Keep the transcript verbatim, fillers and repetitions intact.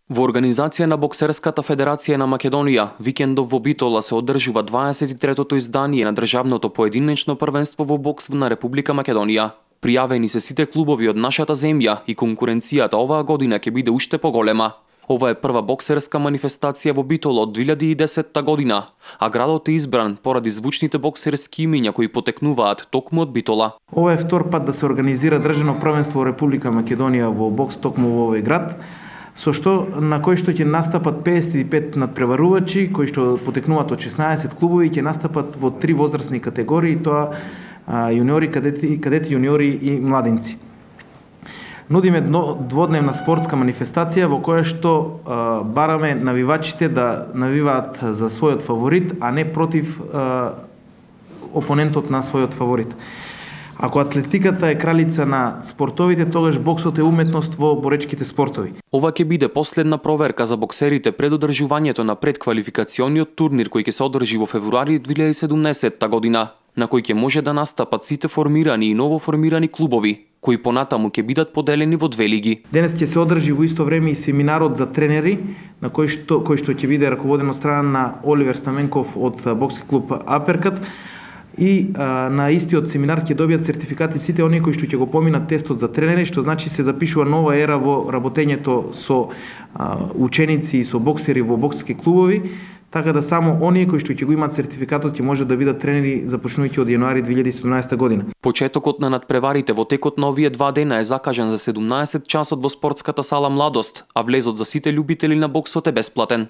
Во организација на Боксерската федерација на Македонија, викендов во Битола се одржува дваесет и третото издание на државното поединечно првенство во бокс на Република Македонија. Пријавени се сите клубови од нашата земја и конкуренцијата оваа година ќе биде уште поголема. Ова е прва боксерска манифестација во Битола од две илјади и десетта година, а градот е избран поради звучните боксерски имиња кои потекнуваат токму од Битола. Ова е втор пат да се организира државно првенство во Република Македонија во бокс токму во овој град, со што на кој што ќе настапат педесет и пет надпреварувачи кои што потекнуваат од шеснаесет клубови, ќе настапат во три возрастни категории, тоа јуниори, кадети, кадети јуниори и младинци. Нудиме дводневна спортска манифестација во која што а, бараме навивачите да навиваат за својот фаворит, а не против а, опонентот на својот фаворит. Ако атлетиката е кралица на спортовите, тогаш боксот е уметност во боречките спортови. Ова ќе биде последна проверка за боксерите пред одржувањето на предквалификациониот турнир кој ќе се одржи во февруари две илјади и седумнаесетта година, на кој ќе може да настапат сите формирани и новоформирани клубови, кои понатаму ќе бидат поделени во две лиги. Денес ќе се одржи во исто време и семинарот за тренери, на кој што кој што ќе биде раководен од страна на Оливер Стаменков од бокски клуб Аперкат. И а, на истиот семинар ќе добијат сертификати сите оние кои што ќе го поминат тестот за тренери, што значи се запишува нова ера во работењето со а, ученици и со боксери во бокски клубови, така да само оние кои што ќе го имаат сертификатот ќе може да бидат тренери започнувајќи од јануари две илјади и седумнаесетта година. Почетокот на надпреварите во текот на овие два дена е закажан за седумнаесет часот во спортската сала Младост, а влезот за сите љубители на боксот е бесплатен.